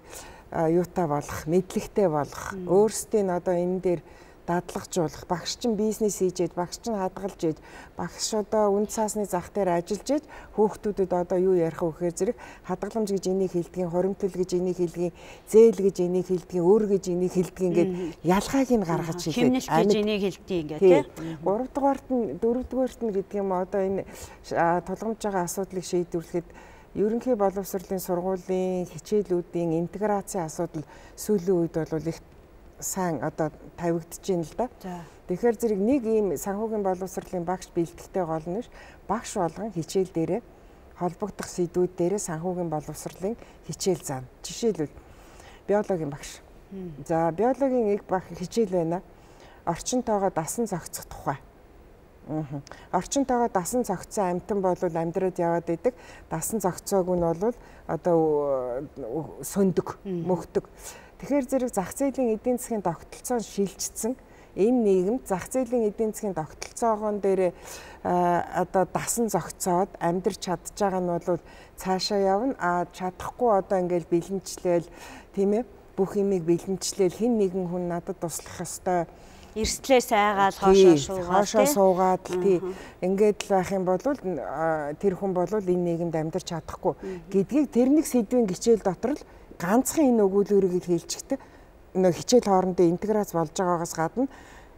юутай болох, мэдлэгтэй болох, өөрсдийн одоо энэ дээр дадлагжуулах, багш чинь бизнес хийж, багш чинь хадгалж иж, багш одоо үн цаасны зах дээр ажиллаж иж, хүүхдүүдэд одоо юу ярих вэ гэхээр зэрэг хадгаламж гэж энийг хэлдгийн, хоримтол гэж энийг хэлдгийн, зээл гэж энийг хэлдгийн, өөр гэж энийг хэлдгийн гэд ялгааг нь гаргаж хэлээ. Химнэлт гэж энийг хэлдэг ингээ тий. 3 дугаарт нь 4 дугаарт нь гэдэг юм одоо энэ тулгамж байгаа асуудлыг шийдвэрлэхэд ерөнхий боловсролын сургуулийн хичээлүүдийн интеграцийн асуудал сүүлийн үед бол их сайн одоо тавигдж байна л да. Тэгэхээр зэрэг нэг ийм санхүүгийн боловсролын багш бэлтгэхтэй гол нь багш болгон хичээл дээрээ холбогдох сэдвүүд дээрээ санхүүгийн боловсролын хичээл заана. Жишээлбэл биологийн багш. За биологийн нэг багш хичээл байна. Орчинтойгоо дасан зохицох тухай. Орчинтойгоо дасан зохицсон амьтан бол амьдраад яваад идэг. Дасан зохицоог нь бол одоо сөндөг, мөхдөг. Тэгэхээр зэрэг зах зээлийн эдийн засгийн тогтолцоо шилжчихсэн. Энэ нийгэмд зах зээлийн эдийн засгийн тогтолцоогон дээр одоо дасан зохицоод амьдрч чадж байгаа нь бол цаашаа явна. Чадахгүй одоо ингээл бэлэнчлээл тийм ээ бүх юмыг бэлэнчлээл хэн нэгэн хүн надад туслах ёстой. Эрсдлээ сайгаал хоошоо суугаад тий ингээд л байх юм бол тэр хүн бол энэ нийгэмд амьдрч чадахгүй гэдгийг тэр нэг сэдвийн хичээл дотор л ганцхан энэ өгүүлбэрийг хэлчихдэг. Нөгөө хичээл хоорондоо интеграц болж байгаагаас гадна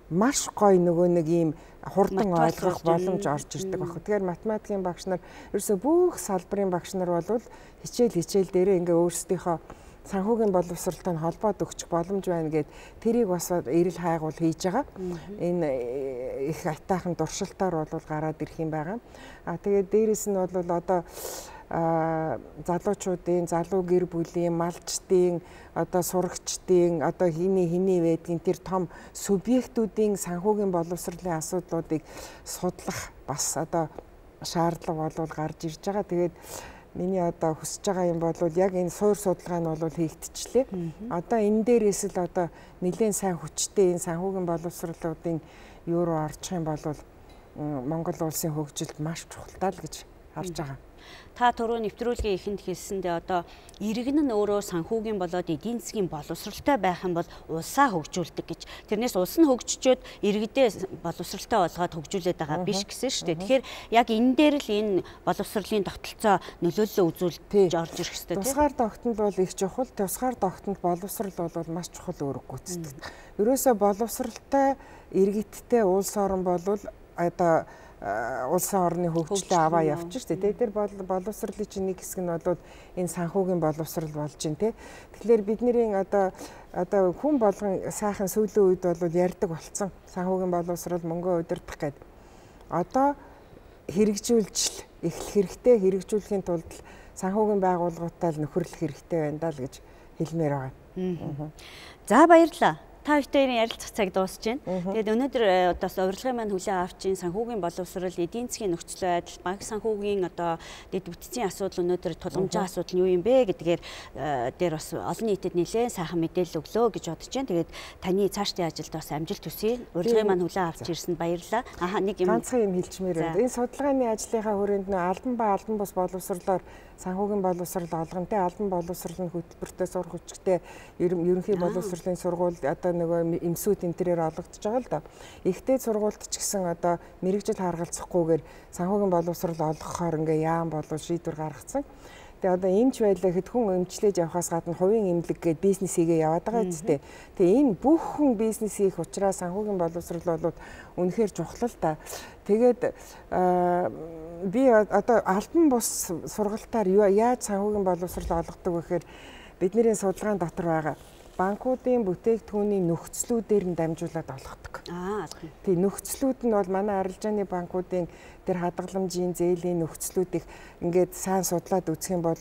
маш гоё нөгөө нэг ийм хурдан ойлгох боломж орж ирдэг баг. Тэгэхээр математикийн багш нар ерөөсөө бүх салбарын багш нар бол хичээл дээрээ ингээ өөрсдийнхөө санхүүгийн боловсролтой холбоод өгчих боломж байна гэд тэрийг бас эрэл хайгуул хийж байгаа. Энэ их атайхан дуршилтаар бол гараад ирэх юм байгаа. Тэгээд дээрэс нь бол одоо залуучуудын, залуу гэр бүлийн, малчдын, одоо сурагчдын, одоо хиний байдгийн тэр том субъектүүдийн санхүүгийн боловсролын асуудлуудыг судлах бас одоо шаардлага бол гарч ирж байгаа. Тэгээд миний одоо хүсэж байгаа юм бол яг энэ суур судалгаа нь бол хийгдчихлээ. Одоо энэ дээрээс л одоо нэлээд сайн хүчтэй энэ санхүүгийн боловсролуудын юу руу орчих юм бол Монгол улсын хөгжилд маш чухалтай л гэж харж байгаа. Та түрүү нэвтрүүлгийн эхэнд хэлсэндээ одоо иргэн нь өөрөө санхүүгийн болоод эдийн засгийн боловсролтой байх юм бол улсаа хөгжүүлдэг гэж. Тэрнээс улс нь хөгжчөөд иргэдээ боловсролтой болгоод хөгжүүлээд байгаа биш гэсэн шүү дээ. Тэгэхээр яг энэ дээр л энэ боловсролын тогтолцоо нөлөөллөө үзүүлж орж ирэх хэрэгтэй тийм. Тусгаар тогтнол бол их чухал. Тусгаар тогтнол боловсрол бол маш чухал үүрэг гүйцэтгэдэг. Ерөөсөө боловсролтой иргэдтэй улс орн бол одоо улсын орны хөгжлөө аваа явчих шүү дээ. Тэр боловсролын чинь нэг хэсэг нь бол энэ санхүүгийн боловсрол болж байна тий. Тэгэхээр бидний одоо хүн болгон сайхан сүүлийн үед бол ярьдаг болсон. Санхүүгийн боловсрол мөнгө удирдах гэдэг. Одоо хэрэгжүүлж эхлэх хэрэгтэй. Хэрэгжүүлэхийн тулд санхүүгийн байгууллагуудтай л нөхөрлөх хэрэгтэй байна даа л гэж хэлмээр байгаа. За баярлалаа. Та бүхэн ярилцах цаг дуусж байна. Тэгээд өнөөдөр одоо урилгын маань хүлээн авч ин санхүүгийн боловсрол, эдийн засгийн нөхцөл байдал, банк санхүүгийн одоо дэд бүтцийн асуудал өнөөдөр тулгамжийн асуудал нь юу юм бэ гэдгээр дээр бас олон нийтэд нэлээд сайхан мэдээлэл өглөө гэж бодож байна. Тэгээд таны цаашдын ажилд бас амжилт хүсье. Урилгын маань хүлээн авч ирсэнд баярлалаа. Нэг юм ганцхан юм хэлчмээр байна. Энэ судалгааны ажлынхаа хүрээнд албан ба албан бус боловсролоор санхүүгийн боловсрол олгонтэй албан боловсролын хөтөлбөртэй сурах хүчтэй ерөнхий боловсролын сургууль одоо нөгөө эмсүүд энэ төрөөр олгогдож байгаа л да. Ихтэй сургуульд ч гэсэн одоо мэрэгжил харгалзахгүйгээр санхүүгийн боловсрол олгохоор ингээ яам болов шийдвэр гаргацсан. Тэгээ одоо эмч байлаа гэхэд хүн эмчлээж явахаас гадна хувийн эмнэлэг гээд бизнес хийгээ яваад байгаа үстэй. Тэгээ энэ бүх хүн бизнес хийх учраас санхүүгийн боловсрол бол үнэхээр чухал л та. Тэгээд би одоо албан бус сургалтаар яаж санхүүгийн боловсрол олгодог вэ гэхээр бидний судалгаан дотор байгаа банкуудын бүтээгдэхүүний нөхцлүүдээр нь дамжуулаад олгодог. Тэгээ нөхцлүүд нь бол манай арилжааны банкуудын тэр хадгаламжийн зээлийн нөхцлүүдийг ингээд сайн судлаад үзэх юм бол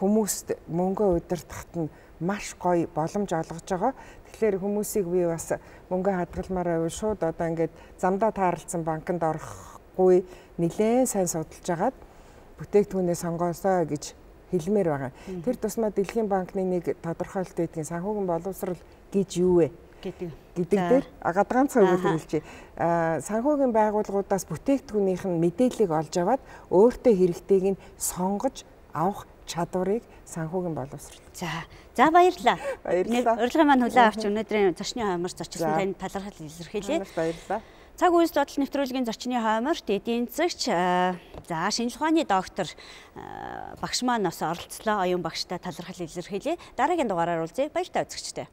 хүмүүст мөнгө удирдахад нь маш гоё боломж олгож байгаа. Тэгэхээр хүмүүсийг би бас мөнгө хадгалмаар байвал шууд одоо ингээд замдаа тааралцсан банкнд орохгүй нэлээд сайн судалж агаад бүтээгдэхүүнээ сонгоосоо гэж хэлмээр байгаа. Тэр тусмаа Дэлхийн банкны нэг тодорхойлолт байдгийн санхүүгийн боловсрол гэж юу вэ гэдэг дээр гадгаанцаа өгүүлбэр хэлжээ. Санхүүгийн байгууллагуудаас бүтээгдэхүүнийх нь мэдээллийг олж аваад өөртөө хэрэгтэйг нь сонгож авах чадварыг санхүүгийн боловсрол. За баярлалаа. Урилгын маань хүлээн авч өнөөдрийн зочны хойморч зочлон танд талархал илэрхийлье. Баярлалаа. Цаг үйл додол нэвтрүүлгийн зочны хойморт эдийн засагч шинжлэх ухааны доктор багш маань бас оролцлоо. Оюун багштай талархал илэрхийлье. Дараагийн дугаараар уулзъя. Баяртай үзэгчтэй.